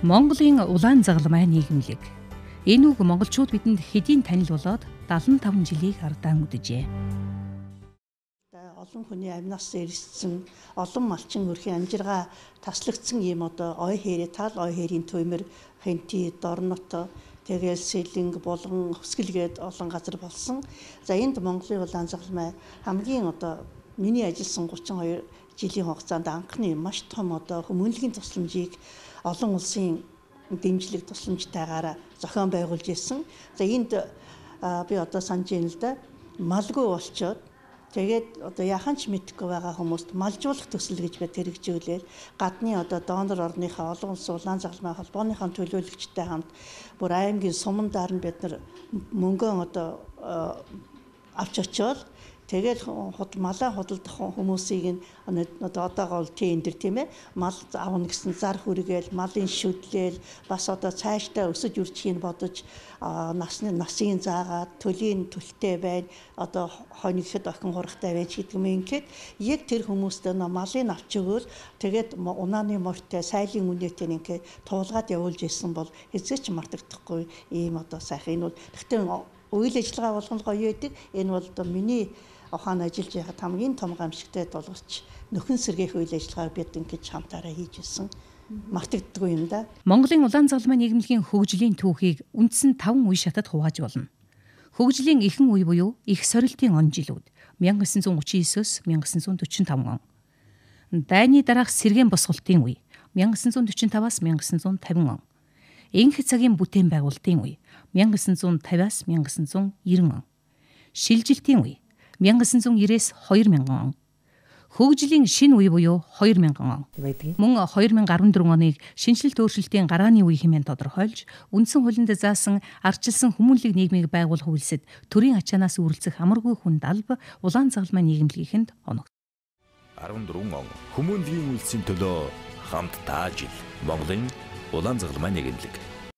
Монголын улаан загалмай нийгэмлэг. Энэ үг монголчууд бидэнд хэдийн танил болоод 75 жилийг ардаан үдэжээ. Олон хүний амнаас ирсэн, олон малчин өрхийн амжиргаа таслагдсан ийм ой хэрэг, тал ой хэрийн төмөр, хэнти, дорнот, тэгэл сэлэнг, булган, хөсгөлгээд олон газар болсон. За энд Монголын улаан загалмай хамгийн миний ажилласан 32 жилийн хугацаанд анхны маш том хүмүүнлэгийн тусламжийг олон улсын дэмжлэг тусламжтайгаар зохион байгуулж ирсэн. За энд би санаж байна л да. Малгүй болчоод тэгээд яхан ч мэдэхгүй байгаа хүмүүст малжуулах төсөл гэж бид хэрэгжүүлээл гадны донор орныхаа олон улсын улаан загалмай холбооныхаа төлөөлөгчтэй хамт бүр аймгийн сумандаар нь бид нар мөнгөө авч очиод тэгээд малаа худалдах хүмүүсийг одоогоо тийм мал авна гэсэн зар хүргээл малын шүдлэл бас цаашдаа өсөж үржихийг бодож насын заагаад төлийн төлтэй байна хонигхэд охин хурагтай байж гэдэг юм ингээд яг тэр хүмүүстээ малыг авч өгөөл тэгээд унааны морьтой сайлын үнэтэй ингээд туулгаад явуулж ирсэн бол хэзээ ч мартагдахгүй ийм сайхан энэ бол гэхдээ үйл ажиллагаа болгон гоё байдаг энэ бол миний ухаан ажиллаж байхад хамгийн том гамшигтай долгоч нөхөн сэргээх үйл ажиллагааг бид ингэж хамтаараа хийж ирсэн. Мартагддаггүй юм да. Монголын улаан загалмай нийгэмлэгийн хөгжлийн түүхийг үндсэн 5 үе шатад хувааж болно. Хөгжлийн эхэн үе буюу их сорилтын он жилүүд 1939-с 1945 он. Дайны дараах сэргээн босголтын үе 1945-аас 1950 он. Энх цагийн бүтээн байгуулалтын үе 1950-аас 1990 он. Шилжилтийн үе 1990-с 2000 он. Хөгжлийн шинэ үе буюу 2000 он. Мөн 2014 оныг шинжилт өөрчлөлтийн гарааны үе хэмээн тодорхойлж, үндсэн хуулинд заасан ардчилсан хүмүүнлэг нийгмийг байгуулах үйлсэд төрийн ачаанаас үргэлжлэх амаргүй хүнд алба улаан загалмай нийгэмлэгэнд оногд. 14 он хүмүүнлэгийн үйлсийн төлөө хамт таажил Монголын улаан загалмай нийгэмлэг.